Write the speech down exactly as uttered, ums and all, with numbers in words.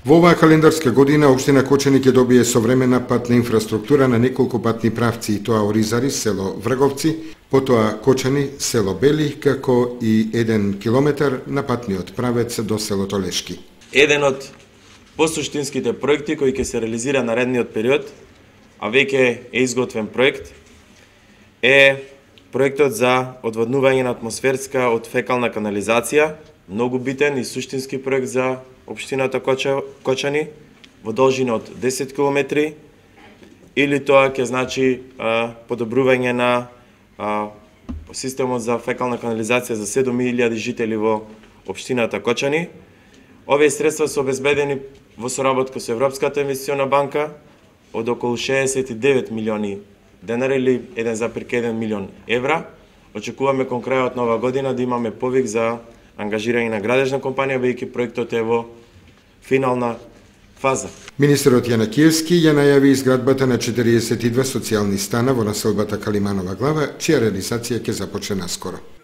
Во оваа календарска година општина Кочани ќе добие современа патна инфраструктура на неколку патни правци, и тоа Оризари, село Врговци, потоа Кочани, село Бели, како и еден километар на патниот правец до селото Лешки. Еден од посуштинските проекти кои ќе се реализира наредниот период, а веќе е изготвен проект, е проектот за одводнување на атмосферска од фекална канализација, многу битен и суштински проект за општината Кочани во должина од десет километри, или тоа ќе значи а, подобрување на а, системот за фекална канализација за седум илјади жители во општината Кочани. Овие средства се обезбедени во соработка со Европската инвестициона банка од околу шеесет и девет милиони денари или еден запир еден милион евра. Очекуваме кон крајот на оваа година да имаме повик за ангажирање на градежна компанија, бидејќи проектот е во финална фаза. Министерот Јанакиевски ја најави изградбата на четириесет и две социјални стана во населбата Калиманова глава, чија реализација ќе започне наскоро.